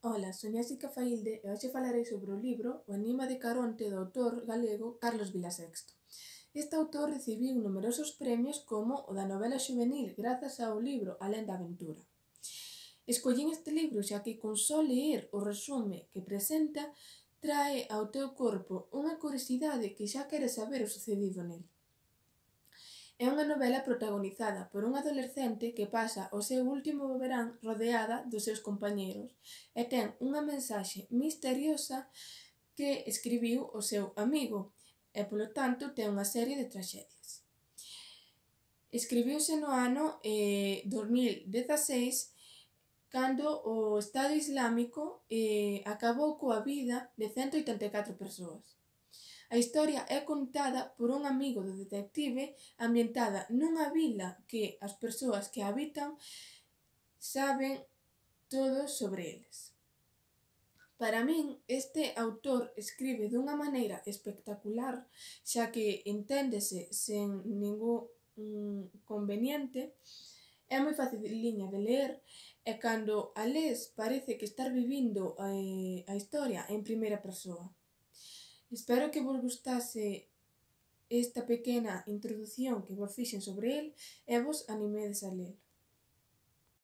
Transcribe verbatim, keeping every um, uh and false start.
Ola, son Jéssica Faílde e hoxe falarei sobre o libro O enigma de Caronte do autor galego Carlos Vilasexto. Este autor recibiu numerosos premios como o da novela xuvenil grazas ao libro Alén da aventura. Escollín este libro xa que con só ler o resume que presenta trae ao teu corpo unha curiosidade que xa queres saber o sucedido nel. É unha novela protagonizada por un adolescente que pasa o seu último verán rodeada dos seus compañeros e ten unha mensaxe misteriosa que escribiu o seu amigo e, polo tanto, ten unha serie de traxedias. Escribiuse no ano eh, dos mil dezaseis cando o Estado Islámico eh, acabou coa vida de cento oitenta e catro persoas. A historia é contada por un amigo do detective ambientada nunha vila que as persoas que a habitan saben todo sobre eles. Para min, este autor escribe dunha maneira espectacular, xa que enténdese sen ningún mm, conveniente, é moi faciliña de ler e cando a lees parece que estar vivindo eh, a historia en primeira persoa. Espero que vos gustase esta pequena introdución que vos fixen sobre el e vos animedes a lelo.